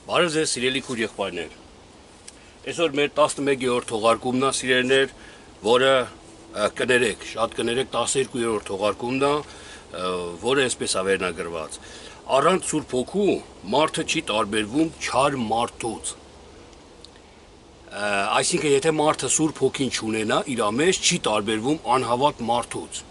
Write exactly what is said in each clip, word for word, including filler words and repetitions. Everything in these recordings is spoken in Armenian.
Բարև ձեզ սիրելի քույր եղբայրներ։ Այսօր մեր տասնմեկերորդ թողարկումն է, սիրելիներ, որը կներեք, շատ կներեք տասներկուերորդ թողարկումն է, որը այսպես է վերնագրված։ Առանց Սուրբ Հոգու մարդը չի տարբերվում չար մարդուց։ Այսինքն, եթե մարդը Սուրբ Հոգին չունենա, իր մեջ չի տարբերվում անհավատ մարդուց։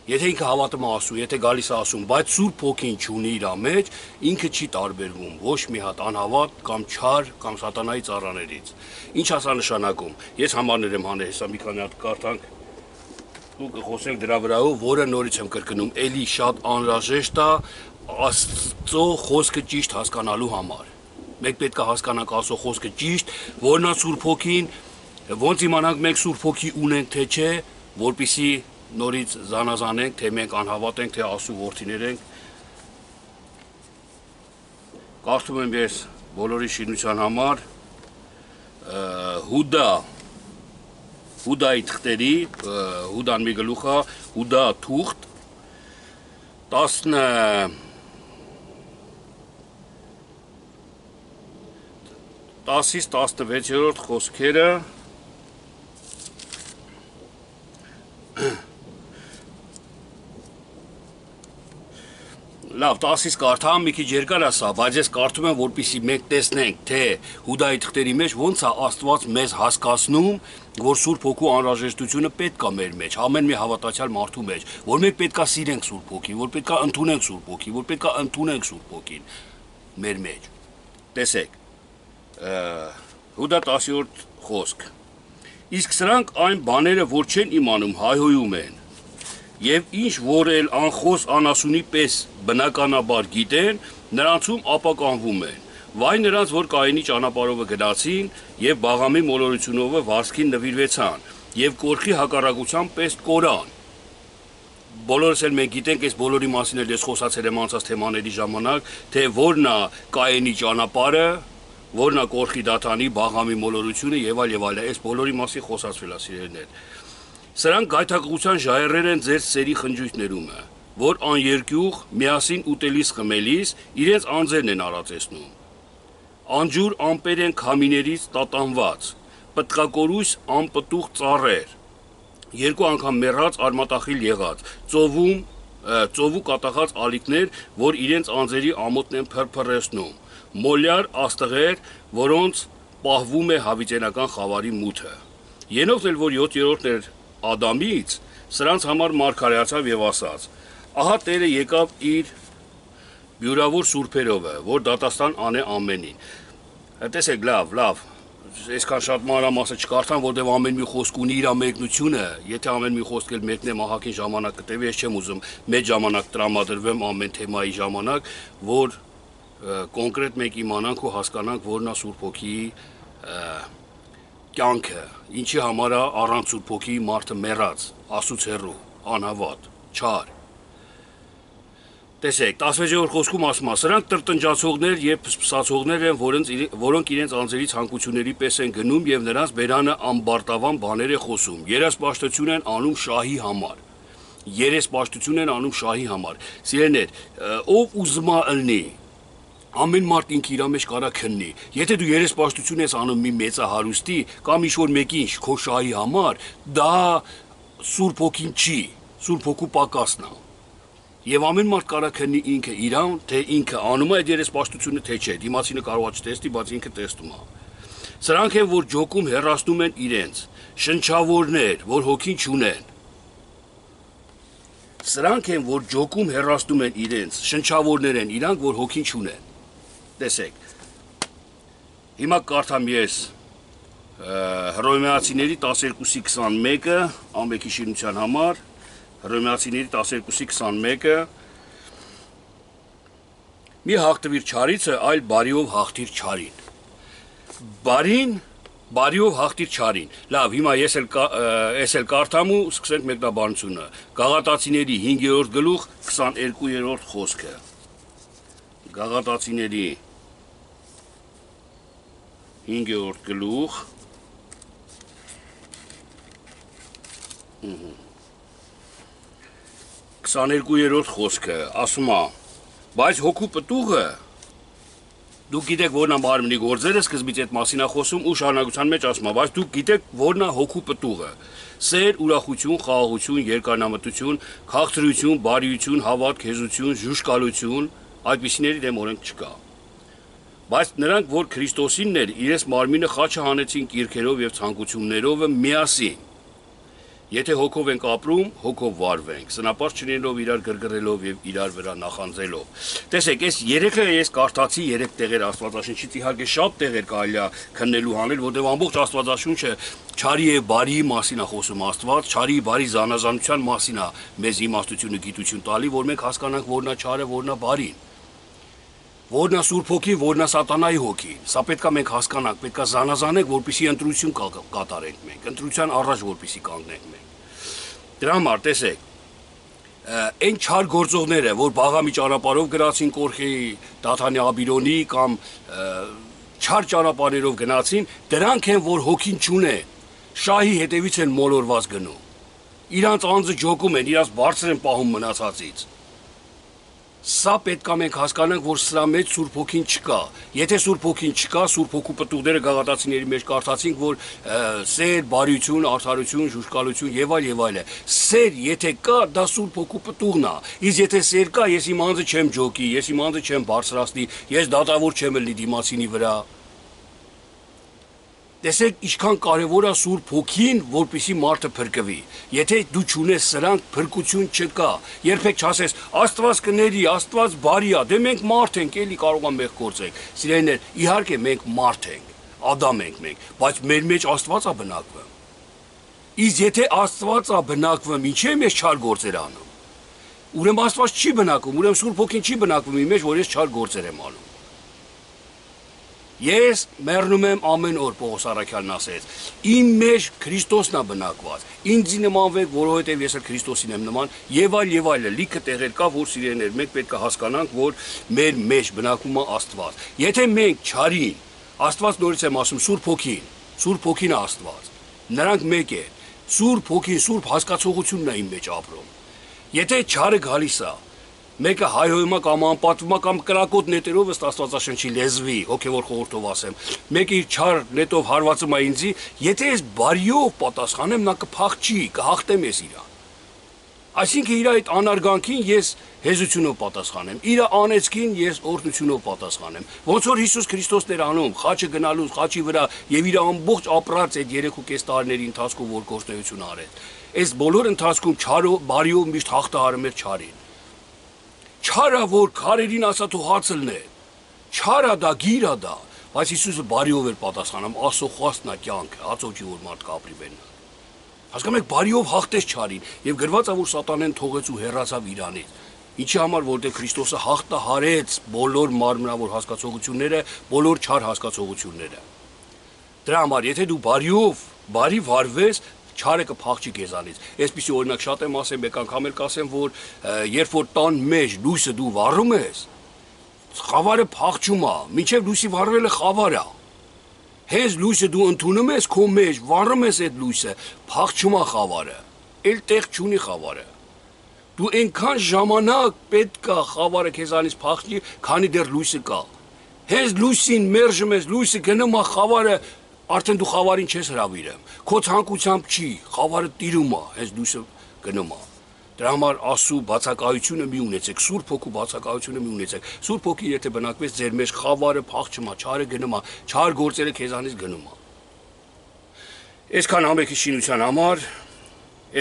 Եթե ինքը հավատում է ասում, եթե գալիս է ասում, բայց Սուրբ Հոգին չունի իր մեջ, ինքը չի տարբերվում ոչ մի հատ անհավատ կամ չար կամ սատանայի ծառաներից։ Ինչ ասա նշանակում։ Ես համարներ եմ հանել, հեսա մի քանի հատ կարդանք ու կխոսենք դրա վրայով, որը նորից եմ կրկնում, էլի շատ անհրաժեշտ է Աստծո խոսքը ճիշտ հասկանալու համար։ Մենք պետք է հասկանանք Աստծո խոսքը ճիշտ, որն է Սուրբ Հոգին, ոնց իմանանք մենք Սուրբ Հոգի ունենք թե չէ, որպեսզի նորից զանազանենք, թե մենք անհավատ ենք, թե Աստծո որդիներ ենք։ Կարդում եմ ես բոլորի շինության համար Հուդա Հուդայի թղթերի, Հուդան մի գլուխ է, Հուդա թուղթ տասն տասից տասնվեցերորդ խոսքերը Լավ, տասից կարդամ, մի քիչ երկար է սա, բայց ես կարդում եմ, որպեսզի մենք տեսնենք, թե Հուդայի թղթերի մեջ ոնց է Աստված մեզ հասկացնում, որ Սուրբ Հոգու անհրաժեշտությունը պետք է մեր մեջ, ամեն մի հավատացյալ մարդու մեջ, որ մենք պետք է սիրենք Սուրբ Հոգին, որ պետք է ընդունենք Սուրբ Հոգին, որ պետք է ընդունենք Սուրբ Հոգին մեր մեջ։ Տեսեք, Հուդա տասերորդ խոսք։ Իսկ սրանք այն բաները, որ չեն իմանում, հայհոյում են, եւ ինչ որ էլ անխոս անասունի պես բնականաբար գիտեն, նրանցում ապականվում են։ Վայ նրանց, որ Կայինի ճանապարհով գնացին եւ Բաղամի մոլորությունով վարձքին նվիրվեցան եւ կորխի հակառակության պես կորան։ Բոլորս էլ մենք գիտենք, այս բոլորի մասին էլ ես խոսացել եմ անցած թեմաների ժամանակ, թե որն է Կայինի ճանապարհը, որն է կորխի դաթանի, Բաղամի մոլորությունը եւ այլ եւ այլ։ Այս բոլորի մասին խոսացվել է, սիրելիներ։ Սրանք գայթակղության ժայռեր են ձեր սերի խնջույքներում, որ աներկյուղ միասին ուտելիս խմելիս իրենց անձերն են արածեցնում։ Անջուր ամպեր են քամիներից տատանված, պտղակորույս անպտուղ ծառեր, երկու անգամ մեռած արմատախիլ եղած, ծովում, ծովու կատաղած ալիքներ, որ իրենց անձերի ամոթն են փրփրեցնում, մոլյար աստղեր, որոնց պահվում է հավիտենական խավարի մութը։ Ենովն էլ, որ յոթերորդն էր Ադամից, սրանց համար մարգարեացավ եւ ասաց. Ահա Տերը եկավ իր բյուրավոր սուրբերով, որ դատաստան անե ամենին։ Տեսեք, լավ, լավ, այսքան շատ մանրամասը չկարդամ, որտեղ ամեն մի խոսք ունի իր մեկնությունը, եթե ամեն մի խոսք էլ մեկնեմ ահագին ժամանակ կտևի, ես չեմ ուզում մեծ ժամանակ տրամադրվեմ ամեն թեմայի ժամանակ, որ կոնկրետ մենք իմանանք ու հասկանանք, որն է Սուրբ Հոգիի կյանքը, ինչի համար է առանց Սուրբ Հոգիի մարդը մեռած, Աստծուց հեռու, անհավատ, չար։ Տեսեք, տասնվեցերորդ խոսքում ասում է, սրանք տրտնջացողներ եւ սպասացողներ են, որոնք իրենց անձերի ցանկությունների պես են գնում եւ նրանց բերանը ամբարտավան բաներ է խոսում։ Երեսպաշտություն են անում շահի համար։ Երեսպաշտություն են անում շահի համար։ Սիրելիներ, ով ուզում է ըլնի, ամեն մարդ ինքը իր մեջ կարա քննի։ Եթե դու երեսպաշտություն ես անում մի մեծահարուստի կամ ինչ-որ մեկին քո շահի համար, դա Սուրբ Հոգին չի, Սուրբ Հոգու պակասն է։ Եվ ամեն մարդ կարա քննի ինքը իրան, թե ինքը անում է այդ երեսպաշտությունը, թե չէ։ Դիմացինը կարող է չտեսնի, բայց ինքը տեսնում է։ Սրանք են, որ ջոկում հեռացնում են իրենց, շնչավորներ, որ հոգին չունեն։ Սրանք են, որ ջոկում հեռացնում են իրենց, շնչավորներ են իրանք, որ հոգին չունեն։ Տեսեք, հիմա կարդամ ես Հռոմեացիների տասներկուսի քսանմեկը, ամենքի շինության համար, Հռոմեացիների տասներկուսի քսանմեկը, մի հաղթվիր չարիցը, այլ բարիով հաղթիր չարին։ Բարին, բարիով հաղթիր չարին։ Լավ, հիմա ես էլ, ես էլ կարդամ ու սկսենք մեկնաբանությունը։ Գաղատացիների հինգերորդ գլուխ, քսաներկուերորդ խոսքը։ Գաղատացիների հինգերորդ գլուխ քսաներկուերորդ խոսքը ասում է, բայց հոգու պտուղը Դուք գիտեք որն է մարմնի գործերը, սկզբից այդ մասին է խոսում ու շարունակության մեջ ասում է, բայց դուք գիտեք որն է հոգու պտուղը։ Սեր, ուրախություն, խաղաղություն, երկարնամտություն, քաղցրություն, բարիություն, հավատք, հեզություն, ժուշկալություն, այդպիսիների դեմ օրենք չկա։ Բայց նրանք, որ Քրիստոսինն էր, իրենց մարմինը խաչը հանեցին կիրքերով եւ ցանկություններով միասին։ Եթե հոգով ենք ապրում, հոգով վարվենք, սնապարտ չլինելով իրար գրգռելով եւ իրար վրա նախանձելով։ Տեսեք, այս երեքը ես կարդացի երեք տեղեր Աստվածաշնչից, իհարկե շատ տեղեր կարելի է քննելու հանել, որտեղ ամբողջ Աստվածաշունչը չարի եւ բարիի մասին է խոսում Աստված, չարի բարի զանազանության մասին է մեզ իմաստություն ու գիտություն տալի, որ մենք հասկանանք որն է չարը, որն է բարին։ Որն է Սուրբ Հոգին, որն է Սատանայի հոգին։ Սա պետք է մենք հասկանանք, պետք է զանազանենք, որպեսզի ընտրություն կատարենք մենք, ընտրության առաջ որպեսզի կանգնենք մենք։ Դրա համար տեսեք, այն չար գործողները, որ բաղամի ճանապարհով գրացին Կորխեի, Դաթանի Աբիրոնի կամ չար ճանապարհերով գնացին, դրանք են, որ հոգին չունեն, շահի հետևից են մոլորված գնում։ Իրանց անձը ջոկում են, իրանց բարձր են պահում մնացածից։ Սա պետք է մենք հասկանանք, որ սրա մեջ Սուրբ Հոգին չկա։ Եթե Սուրբ Հոգին չկա, Սուրբ Հոգու պտուղները գաղատացիների մեջ կարդացինք, որ սեր, բարություն, արդարություն, ժուշկալություն եւ այլ եւ այլ է։ Սեր եթե կա, դա Սուրբ Հոգու պտուղն է։ Իսկ եթե սեր կա, ես իմ անձը չեմ ջոկի, ես իմ անձը չեմ բարձրացնի, ես դատավոր չեմ ելնի դիմացինի վրա։ Տեսեք, ինչքան կարևոր է Սուրբ Հոգին, որպեսզի մարդը փրկվի։ Եթե դու չունես սրանք, փրկություն չկա։ Երբեք չասես, Աստված կների, Աստված բարի է, դե մենք մարդ ենք, էլի կարող է մեղ գործենք։ Սիրելիներ, իհարկե մենք մարդ ենք, Ադամ ենք մենք, բայց մեր մեջ Աստված է բնակվում։ Իսկ եթե Աստված է բնակվում, ինչի՞ է մեզ չար գործեր անում։ Ուրեմն Աստված չի բնակվում, ուրեմն Սուրբ Հոգին չի բնակվում իմ մեջ, որ ես չար գործեր եմ անում։ Ես մեռնում եմ ամեն օր, Պողոս Առաքյալն ասեց, իմ մեջ Քրիստոսն է բնակված, ինձ նմանվեք, որովհետև ես էլ Քրիստոսին եմ նման, եւ այլ եւ այլ, լիքը տեղեր կա, որ սիրելիներ, մենք պետք է հասկանանք, որ մեր մեջ բնակվում է Աստված։ Եթե մենք չարին, Աստված նորից եմ ասում, Սուրբ Հոգին, Սուրբ Հոգին է Աստված, նրանք մեկ են, Սուրբ Հոգին, Սուրբ հասկացողությունն է իմ մեջ ապրում։ Եթե չարը գալիս է, մեկը հայհոյում է կամ անպատվում է կամ կրակոտ նետերով ըստ Աստվածաշնչի լեզվի, հոգևոր խորհրդով ասեմ, մեկը իր չար նետով հարվածում է ինձի, եթե ես բարիով պատասխանեմ, նա կփախչի, կհաղթեմ ես իրան։ Այսինքն իր այդ անարգանքին ես հեզությունով պատասխանեմ, իր անեծքին ես օրհնությունով պատասխանեմ։ Ոնց որ Հիսուս Քրիստոսն էր անում, խաչը գնալուց խաչի վրա եւ իր ամբողջ ապրած այդ երեք ու կես տարիների ընթացքում որ գործունեություն արեց։ Այս բոլոր ընթացքում չարով, բարիով միշտ հաղթահարում էր չարին։ Չարա որ քարերին ասա թող հացը լնե, չարա դա, գիրա դա, բայց Հիսուսը բարիով էր պատասխանում, ասո խոստն է կյանքը, հացոճի որ մարդ կապրի բեննա։ Հասկանում եք, բարիով հաղթեց չարին եւ գրված է որ Սատանեն թողեց ու հեռացավ իրանից։ Ինչի համար որտեղ Քրիստոսը հաղթահարեց բոլոր մարմնավոր հասկացողությունները, բոլոր չար հասկացողությունները։ Դրա համար եթե դու բարիով, բարի վարվես, չարը կփախչի քեզանից։ Այսպեսի օրինակ շատ եմ ասեմ, մեկ անգամ էլ կասեմ, որ երբ որ տան մեջ լույսը դու վառում ես, խավարը փախչում է, մինչև լույսի վառվելը խավար է։ Հենց լույսը դու ընդունում ես քո մեջ, վառում ես այդ լույսը, փախչում է խավարը։ Էլ տեղ չունի խավարը։ Դու այնքան ժամանակ պետք է խավարը քեզանից փախչի, քանի դեռ լույսը կա։ Հենց լույսին մերժում ես, լույսը գնում է խավարը, արդեն դու խավարին չես հրավիրում, քո ցանկությամբ չի, խավարը տիրում է, հենց լույսը գնում է։ Դրա համար Աստծո բացակայությունը մի ունեցեք, Սուրբ Հոգու բացակայությունը մի ունեցեք։ Սուրբ Հոգի եթե բնակվեց ձեր մեջ, խավարը փախչում է, չարը գնում է, չար գործերը քեզանից գնում է։ Այսքան ամենքի շինության համար,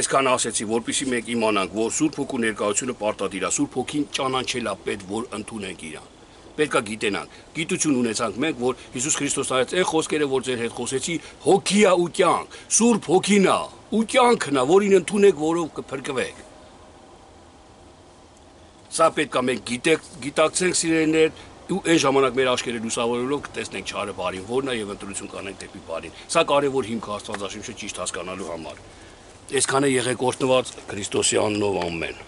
այսքան ասեցի, որպեսզի մենք իմանանք, որ Սուրբ Հոգու ներկայությունը պարտադիր է, Սուրբ Հոգին ճանաչել է պետք, որ ընդունենք իրան։ Պետք է գիտենանք, գիտություն ունեցանք մենք, որ Հիսուս Քրիստոսն ասաց այն խոսքերը, որ ձեր հետ խոսեցի, հոգի է ու կյանք, Սուրբ Հոգին է ու կյանքն է, որին ընդունեք, որով կփրկվեք։ Սա պետք է մենք գիտեք, գիտակցենք սիրելիներ, ու այն ժամանակ մեր աչքերը լուսավորելով կտեսնենք չարը բարին, որն է եւ ընտրություն կանենք դեպի բարին։ Սա կարեւոր հիմք է Աստվածաշնչը ճիշտ հասկանալու համար։ Այսքանը եղեք օրհնված Քրիստոսի անունով ամեն։